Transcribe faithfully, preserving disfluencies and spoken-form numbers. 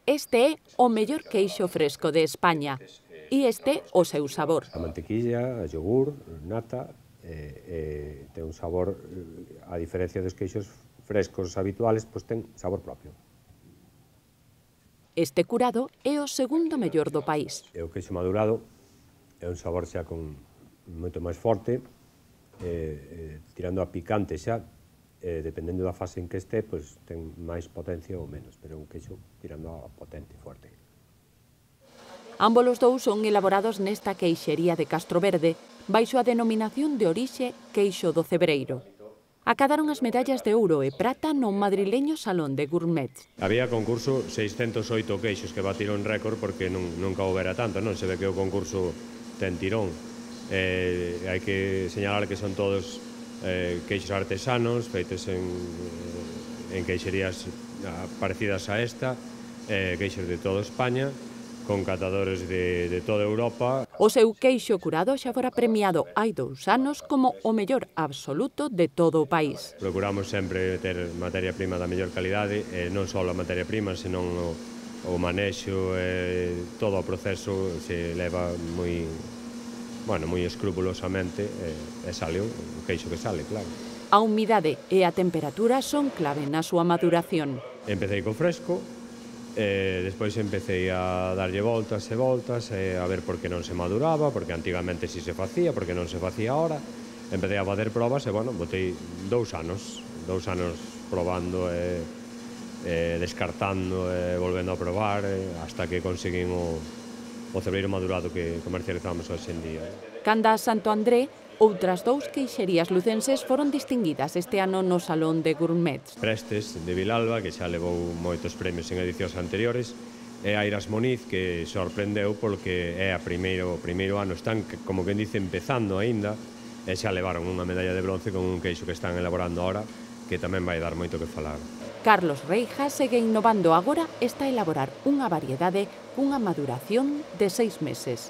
Este é o mellor queixo fresco de España e este o seu sabor. A mantequilla, a yogur, nata, eh, eh, ten un sabor, a diferencia dos queixos frescos habituales, pois ten sabor propio. Este curado é o segundo mellor do país. E o queixo madurado é un sabor xa con moito máis forte, eh, eh, tirando a picante xa, eh, dependendo da fase en que este, pois ten máis potencia ou menos, pero é un queixo tirando a potente, forte. Ambos os dous son elaborados nesta queixería de Castroverde, baixo a denominación de orixe Queixo do Cebreiro. Acadaron as medallas de ouro e prata no madrileño Salón de Gourmets. Había concurso seiscentos oito queixos que batiron récord porque non, nunca houbera tanto, non? Se ve que o concurso ten tirón. Eh, hai que señalar que son todos eh, queixos artesanos, feitos en, en queixerías parecidas a esta, eh, queixos de toda España, con catadores de, de toda Europa. O seu queixo curado xa fora premiado hai dous anos como o mellor absoluto de todo o país. Procuramos sempre ter materia prima da mellor calidade, e non só a materia prima, senón o, o manexo, e todo o proceso se leva moi, bueno, moi escrupulosamente, e, e sale o queixo que sale, claro. A humidade e a temperatura son clave na súa maduración. Empecé co fresco, e despois empecé a darlle voltas e voltas e a ver por que non se maduraba, porque antigamente si se facía, porque non se facía ahora. Empecé a facer probas e, bueno, botei dous anos, dous anos probando e, e descartando e volvendo a probar, e, hasta que conseguín o, o cebreiro madurado que comercializamos hoxe en día. Canda a Santo André, outras dous queixerías lucenses foron distinguidas este ano no Salón de Gourmets. Prestes, de Vilalba, que xa levou moitos premios en edicións anteriores, e Airas Moniz, que sorprendeu porque é a primeiro, o primeiro ano, están, como quen dice, empezando aínda, e xa levaron unha medalla de bronce con un queixo que están elaborando ahora, que tamén vai dar moito que falar. Carlos Reija segue innovando agora, está a elaborar unha variedade cunha maduración de seis meses.